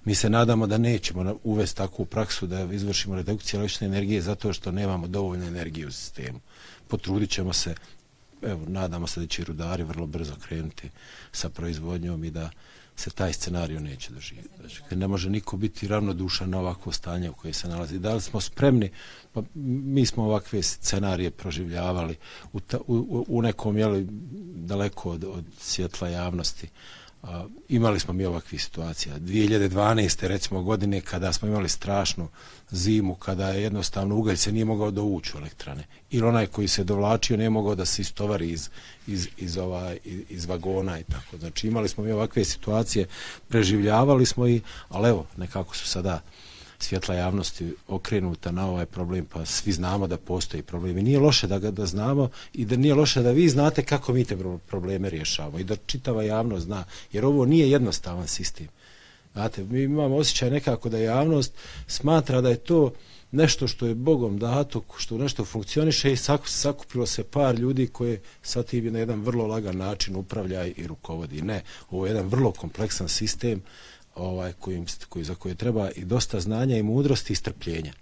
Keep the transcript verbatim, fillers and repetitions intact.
Mi se nadamo da nećemo uvesti takvu praksu da izvršimo redukciju električne energije zato što nemamo dovoljno energije u sistemu. Potrudit ćemo se, evo, nadamo se da će rudari vrlo brzo krenuti sa proizvodnjom i da se taj scenarij neće doživjeti. Znači, ne može niko biti ravnodušan na ovakvo stanje u koje se nalazi. Da li smo spremni? Pa mi smo ovakve scenarije proživljavali u, ta, u, u nekom, jeli, daleko od, od svjetla javnosti. A, imali smo mi ovakvih situacija. dvije hiljade dvanaeste recimo godine kada smo imali strašnu zimu, kada je jednostavno ugalj se nije mogao dovući u elektrane. Ili onaj koji se dovlačio nije mogao da se istovari iz, iz, iz, ova, iz, iz vagona i tako. Znači imali smo mi ovakve situacije, preživljavali smo i, ali evo, nekako su sada svjetla javnosti okrenuta na ovaj problem, pa svi znamo da postoji problem. I nije loše da ga da znamo i da nije loše da vi znate kako mi te probleme rješavamo i da čitava javnost zna, jer ovo nije jednostavan sistem. Znate, mi imamo osjećaj nekako da javnost smatra da je to nešto što je Bogom dato, što nešto funkcioniše i sakupilo se par ljudi koje sad tim na jedan vrlo lagan način upravlja i rukovodi. Ne, ovo je jedan vrlo kompleksan sistem ovaj, kojim, koji, za koje treba i dosta znanja i mudrosti i strpljenja.